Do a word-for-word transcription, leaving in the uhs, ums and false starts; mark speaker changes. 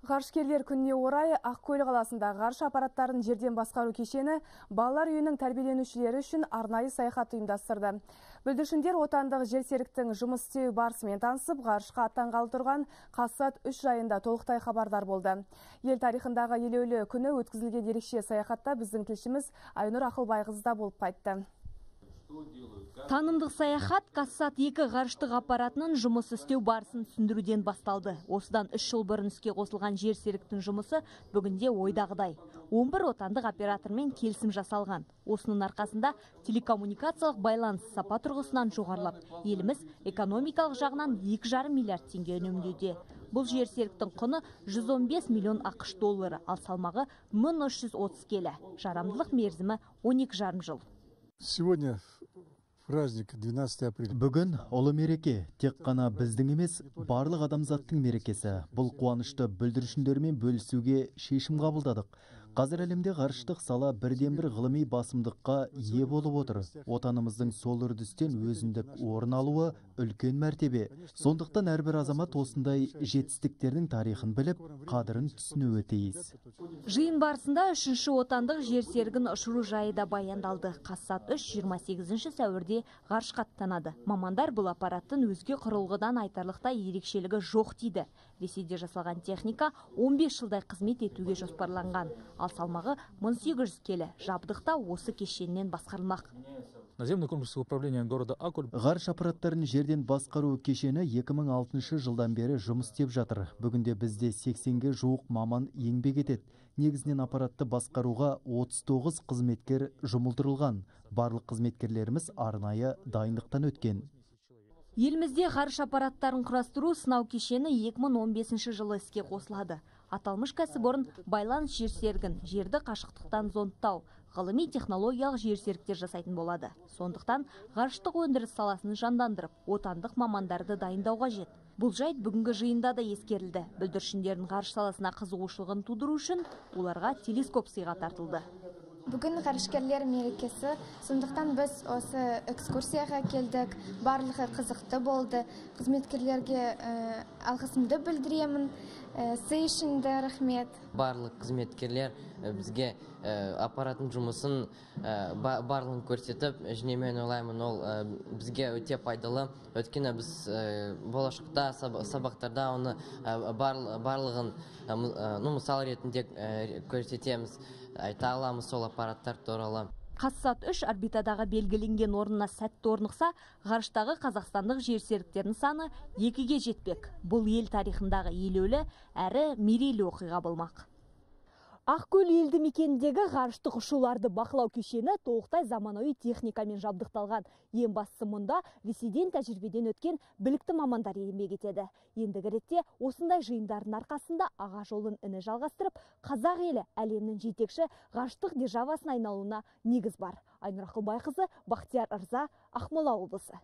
Speaker 1: Ғарышкерлер күніне орай Ақкөл қаласында ғарыш аппараттарын жерден басқару кешені балалар үйінің тәрбиеленушілері үшін арнайы саяхат ұйымдастырды. Бүлдіршіндер отандық жерсеріктің жұмыс істеу барысымен танысып, ғарышқа аттанғалы тұрған Қазсат үш жайында толықтай хабардар болды. Ел тарихындағы елеулі күні өткізілген ерекше саяхатта біздің тілшіміз Айнұр Ақылбайқызы болып қайтты.
Speaker 2: Танымдық саяхат Қазсат екі ғарыштық аппаратының жұмыс істеу барысын түсіндіруден басталды. Осыдан үш жыл бұрын іске қосылған жерсеріктің жұмысы бүгінде ойдағыдай. он бір отандық оператормен келісім жасалған. Осының арқасында телекоммуникациялық байланыс сапа тұрғысынан жоғарылап, еліміз экономикалық жағынан екі жарым миллиард теңге үнемдеуде. Бұл жерсеріктің құны жүз он бес миллион ақш доллары, ал салмағы мың үш жүз отыз келі. Жарамдылық мерзімі он екі жарым жыл.
Speaker 3: Сегодня праздник двенадцатое апреля.
Speaker 4: Бүгін ұлы мереке, тек қана біздің емес, барлық адамзаттың мерекесі. Бұл қуанышты бүлдіршіндермен бөлісуге шешім қабылдадық. Қазір әлемде ғарыштық сала бірден бір ғылыми басымдыққа ие болып отыр. Отанымыздың сол үрдістен өзіндік орын алуы үлкен мәртебе. Сондықтан әрбір азамат осындай жетістіктердің тарихын біліп, қадірін түсінуі тиіс.
Speaker 2: Жиын барысында үшінші отандық жерсерігін ұшыру жайы да баяндалды. Қазсат үш жиырма сегізінші сәуірде ғарышқа аттанады. Мамандар бұл аппараттың өзге құрылғыдан айтарлықтай ерекшелігі жоқ дейді. Ресейде жасалған техника он бес жылдай қызмет етуге жоспарланған. Ал салмағы мың сегіз жүз келі. Жабдықта осы кешеннен басқарылмақ.
Speaker 5: Наземный комплекс управления города Аккөл.
Speaker 4: Ғарыш аппараттарын жерден басқару кешені екі мың алтыншы жылдан бері жұмыс істеп жатыр. Бүгінде бізде сексенге жуық маман еңбек етеді. Негізінен аппаратты басқаруға отыз тоғыз қызметкер жұмылдырылған. Барлық қызметкерлеріміз арнайы дайындықтан өткен.
Speaker 2: Елімізде ғарыш аппараттарын құрастыру сынау кешені екі мың он бесінші жылы іске қосылады. Аталмыш кәсіпорын байланыс жерсерігін, жерді қашықтықтан зондтау, ғылыми технологиялық жерсеріктер жасайтын болады. Сондықтан ғарыштық өндіріс саласын жандандырып, отандық мамандарды дайындау қажет. Бұл жайт бүгінгі жиында да ескерілді. Бүлдіршіндердің ғарыш саласына қызығушылығын тудыру үшін оларға телескоп сыйға тартылды.
Speaker 6: Бүгін ғарышкерлер мерекесі, сондықтан біз осы экскурсияға келдік. Барлығы қызықты болды. Қызметкерлерге алғысымды білдіремін. Сый үшін де рахмет.
Speaker 7: Барлық қызметкерлер бізге аппараттың жұмысын барлығын көрсетіп, және мен ойлаймын, ол бізге өте пайдалы. Өйткені біз болашақта сабақтарда оны барлығын мысал ретінде көрсетеміз. Айта аламыз сол аппараттар туралы.
Speaker 2: Қазсат үш орбитадағы белгіленген орнына сәтті орнықса, ғарыштағы қазақстандық жерсеріктердің саны екіге жетпек. Бұл ел тарихындағы елеулі әрі мерейлі оқиға болмақ. Ақкөл елді мекеніндегі ғарыштық ұшуларды бақылау кешені толықтай заманауи техникамен жабдықталған. Ең бастысы мұнда Ресейден тәжірибеден өткен білікті мамандар еңбек етеді. Ендігі ретте осындай жиындардың арқасында аға жолын іні жалғастырып, қазақ елі әлемнің жетекші ғарыштық державасына айналуына негіз бар. Айнұр Ақылбайқызы, Бақтияр Ырза, Ақмола облысы.